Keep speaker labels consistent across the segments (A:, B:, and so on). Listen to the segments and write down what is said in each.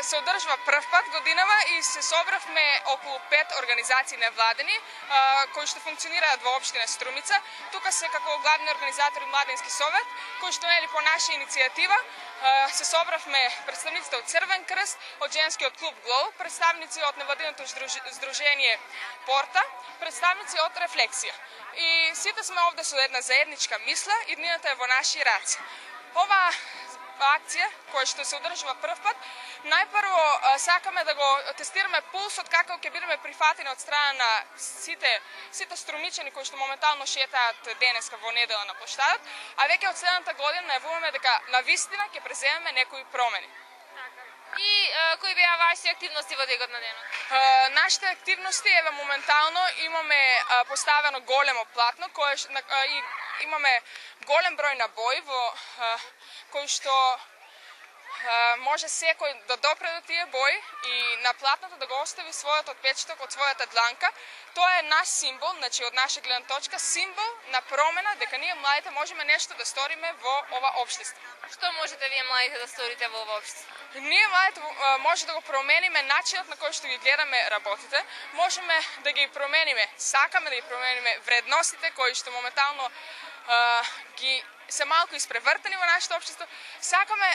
A: се одржува прв пат годинава и се собравме околу 5 организации невладени кои што функционираат во општина Струмица. Тука се како главни организатори Младински совет, кои што по наша иницијатива се собравме представниците од Црвен крст, од женскиот клуб Глоу, представници од невладиното здружение Порта, представници од Рефлексија. И сите сме овде со една заедничка мисла, иднината е во наши раце. Ова акција, која што се одржува прв пат, најпрво сакаме да го тестираме пулсот како ќе бидеме прифатени од страна на сите струмичани кои што моментално шетаат денеска во недела на площадот, а веќе од следната година најавуваме дека навистина ќе преземеме некои промени.
B: И кои беа вашите активности во текот на денот?
A: Нашите активности моментално имаме поставено големо платно и имаме голем број набои во кои што може секој да допре до тие бои и на платното да го остави својот отпечаток од својата дланка. Тоа е наш символ, значи од наша гледна точка, символ на промена дека ние младите можеме нешто да сториме во ова општество.
B: Што можете вие младите да сторите во ова општество?
A: Ние младите може да го промениме начинот на кој што ги гледаме работите, можеме да ги промениме, сакаме да ги промениме вредностите кои што моментално ги се малку испревртени во нашето општество. Сакаме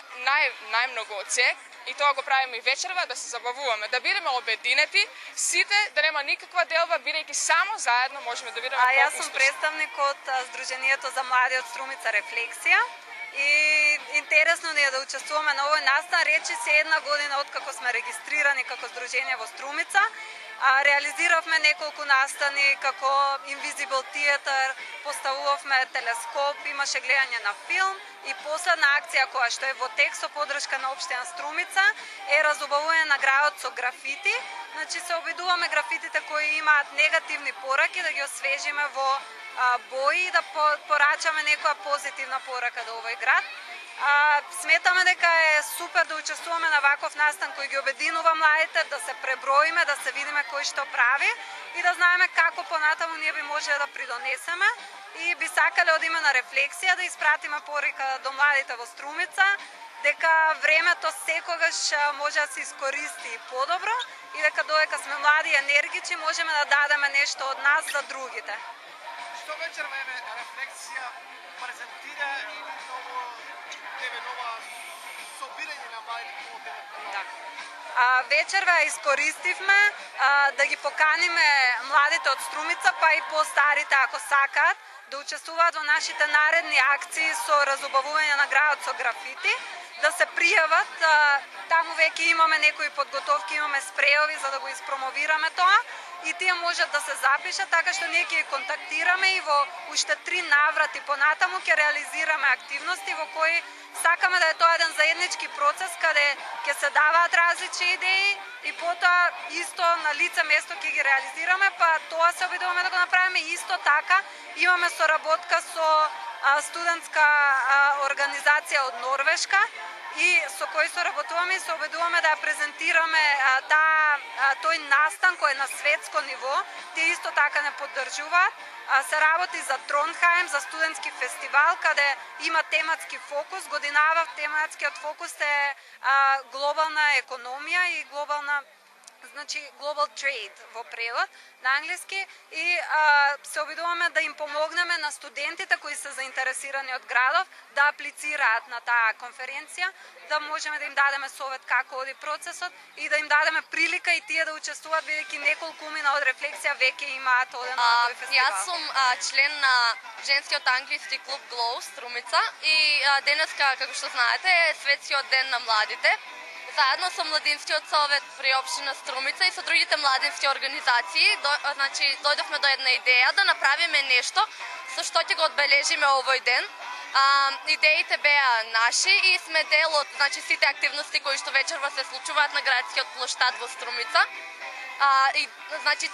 A: најмногу од се, и тоа го правиме и вечерва, да се забавуваме, да бидеме обединети, сите да нема никаква делба, бидејќи само заедно можеме да бидеме
C: поуспешни. Јас сум представник од Сдруженијето за млади од Струмица Рефлексија и интересно ни е да учествуваме на овој настан. Речи се една година откако сме регистрирани како Сдружение во Струмица. Реализиравме неколку настани како Invisible Theater, поставувавме телескоп, имаше гледање на филм и последна акција која што е во тек со подршка на општина Струмица е разубавување на градот со графити. Значи се обидуваме графитите кои имаат негативни пораки да ги освежиме во бои и да порачаме некоја позитивна порака до овој град. Сметаме дека е супер да учествуваме на ваков настан кој ги обединува младите, да се преброиме, да се видиме кој што прави и да знаеме како понатаму ние би можеле да придонесеме и би сакале од име на Рефлексија да испратиме порика до младите во Струмица дека времето секогаш може да се искористи подобро и дека додека сме млади и енергични можеме да дадеме нешто од нас за другите.
D: Што вечерва Рефлексија презентира и нова собирање на младите
C: во вечерва искористивме да ги поканиме младите од Струмица, па и по-старите ако сакаат, да учествуваат во нашите наредни акции со разубавување на градот со графити, да се пријават. Таму веќе имаме некои подготовки, имаме спреови за да го испромовираме тоа и тие можат да се запишат, така што ние ќе контактираме и во уште 3 наврати понатаму ќе реализираме активности во кои сакаме да е тоа еден заеднички процес каде ќе се даваат различни идеи и потоа исто на лице место ќе ги реализираме, па тоа се обидуваме да го направиме исто така. Имаме соработка со студентска организација од Норвешка и со кој соработуваме и се обидуваме да ја презентираме тој настан кој е на светско ниво. Тие исто така не поддржуваат. Се работи за Тронхајм, за студентски фестивал, каде има тематски фокус. Годинава тематскиот фокус е глобална економија и global trade во превод на англиски и се обидуваме да им помогнеме на студентите кои се заинтересирани од градов да аплицираат на таа конференција, да можеме да им дадеме совет како оди процесот и да им дадеме прилика и тие да учествуваат, бидејќи неколку умина од Рефлексија веќе имаат оден на тој фестивал.
B: Јас сум член на женскиот англиски клуб Glow Струмица и денеска, како што знаете, е светскиот ден на младите. Заедно со Младинскиот совет при општина Струмица и со другите младински организации, дојдовме до една идеја да направиме нешто со што ќе го одбележиме овој ден. Идеите беа наши и сме дел од сите активности кои што вечерва се случуваат на градскиот плоштад во Струмица.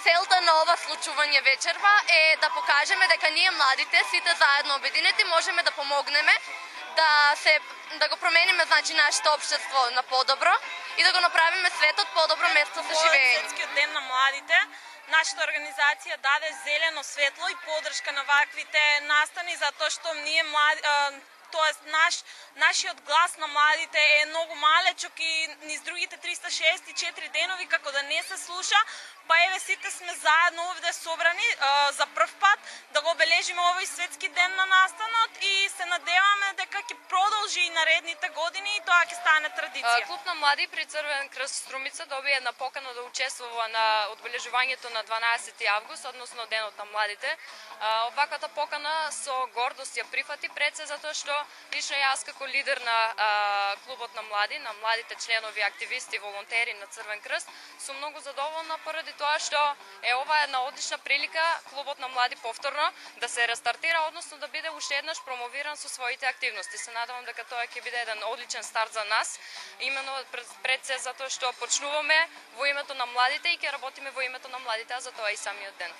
B: Целта на ова случување вечерва е да покажеме дека ние младите, сите заедно обединети, можеме да помогнеме да го промениме нашето општество на подобро и да го направиме светот подобро место за живење.
E: Светскиот ден на младите, нашата организација даде зелено светло и поддршка на ваквите настани затоа што ние тоест нашиот глас на младите е многу малечок и низ другите 364 денови како да не се слуша, па еве сите сме заедно овде собрани за прв пат да го обележиме овој светски ден на настанот и се надеваме дека ќе продолжи и наредните години и тоа ќе стане традиција.
B: Клуб на млади при Црвен крст Струмица доби една покана да учествува на одбележувањето на 12 август, односно денот на младите. Оваквата покана со гордост ја прифати пред се затоа што лично јас како лидер на клубот на млади, на младите членови, активисти, волонтери на Црвен крст, сум многу задоволна поради тоа што ова е една одлична прилика клубот на млади повторно да се рестартира, односно да биде уште еднаш промовиран со своите активности. Се надевам дека тоа ќе биде еден одличен старт за нас, именно пред се затоа што почнуваме во името на младите и ќе работиме во името на младите, а за тоа и самиот ден.